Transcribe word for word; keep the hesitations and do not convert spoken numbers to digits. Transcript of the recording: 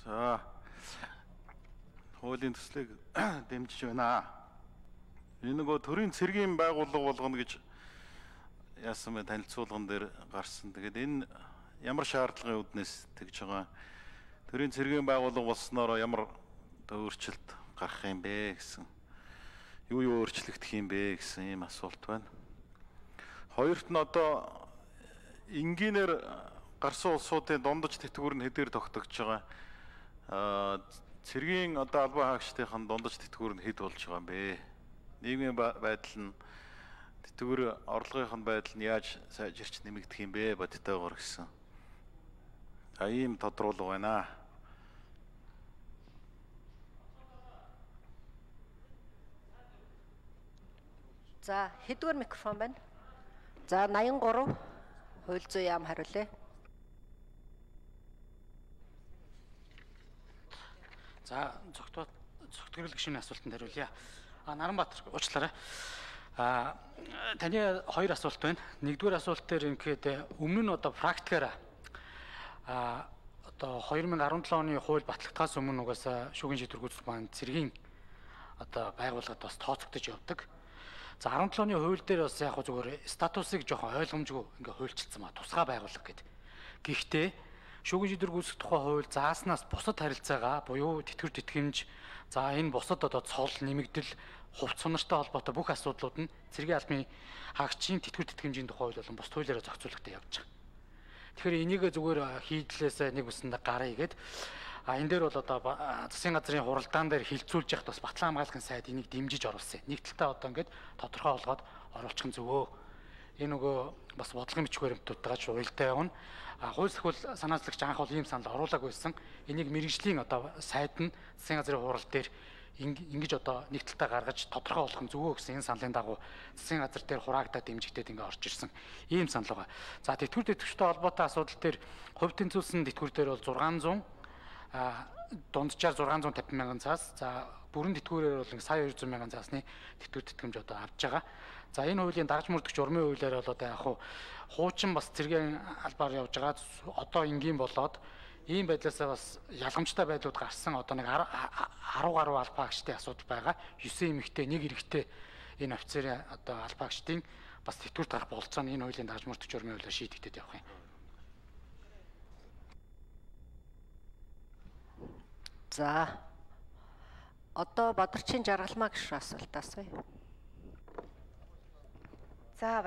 За хуулийн төслийг дэмжиж байна. Энэ нөгөө төрийн цэргийн байгууллага болгоно гэж яасан бэ танилцуулган дээр гарсан. Тэгээд энэ ямар шаардлагын үднэс тэгж байгаа. Төрийн цэргийн байгууллага болсноор ямар өөрчлөлт гарах юм бэ гэсэн. Юу юу өөрчлөгдөх юм бэ гэсэн ийм асуулт байна. Хоёрт нь одоо энгийнээр гарсан улсуудын дундаж тэтгэвэр нь хэдээр тогтогдож байгаа. Аа цэргийн одоо албан хаагчдын дундаж тэтгэвэр нь хэд болж байгаа юм бэ? Нийгмийн байдал нь тэтгэвэр орлогын байдал нь яаж сайжирч нэмэгдэх юм бэ бодтойгоор гэсэн. А ийм тодруулга байна. За хэдвэр микрофон байна? За наян гурав хууль зүйн яам хариулъя. За цогтод цогтгөрөл гишүүний асуултанд хариулъя. А Наранбаатар уучлаарай. А таны хоёр асуулт байна. Нэгдүгээр асуулт дээр ингээд өмнө нь одоо практикаараа а одоо две тысячи десять оны хууль батлагдахаас өмнө угаасаа шүүхийн шийдвэр гүйцэтгэх маань цэргийн одоо байгууллагад бас тооцогдож явдаг. За десять оны хууль дээр бас яг зүгээр статусыг жоохон ойлгомжгүй ингээ хуульчилсан ба тусгай байгууллага гэдэг. Гэхдээ шүүхийн шийдвэр гүйцэтгэх тухай хууль зааснаас бусад харилцаагаа буюу тэтгэвэр тэтгэмж за энэ бусад одоо цол нэмэгдэл хувц сунартай холбоотой бүх асуудлууд нь цэргийн албаны хаагчийн тэтгэвэр тэтгэмжийн тухай хууль болон бус хуулиараа зохицуулалтад явж байгаа. Тэгэхээр энийг зүгээр хийдлээсээ нэг үсэндээ гараа игээд а энэ дээр бол одоо засгийн газрын хуралдаан дээр хилцүүлж яхад бас Батлан хамгаалахын сайд энийг дэмжиж оруулсан. Нэг талдаа одоо ингээд тодорхой болгоод оруулчих нь зөвөө. Энэ нөгөө бас бодлогын бичиг баримтуудтайгаа ч уялдаа явна. А хууль сахвал санаачлагч анх бол ийм санал оруулаагүй байсан. Энийг мэрэгжлийн одоо сайд нь засгийн газрын хурал дээр ингэж одоо нэг талдаа гаргаж тодорхой болгох нь зөвөө гэсэн энэ саналын дагуу засгийн газар дээр хураагдаад дэмжигдээд ингээ орж ирсэн. Ийм санал байгаа. За тэтгэвэр тэтгэвчтэй холбоотой асуудал дээр хувь тэнцвэрсэн тэтгэвэр дээр бол зургаан зуун а дунджаар зургаан зуун тавин мянган цаас за бүрэн тэтгэврээр бол сая хоёр зуун мянган цаасны тэтгэвэр тэтгэмж одоо авч байгаа. За энэ хуулийн дарж мөрдөгч урмын хуулиар бол одоо яг хуу хуучин бас цэргийн албаар явж байгаа одоо энгийн болоод ийм байдлаасаа бас ялгамжтай байдлууд гарсан одоо нэг десять гаруй албаагчдын асуудал байгаа. девять эмэгтэй нэг эрэгтэй энэ офицерын одоо албаагчдын бас тэтгэврт гарах болцоо нь энэ хуулийн дарж мөрдөгч урмын хуулиар шийдэгдээд явах юм. За одоо Бадарчин Жаргалмаа гишүүн асуулт асууя. За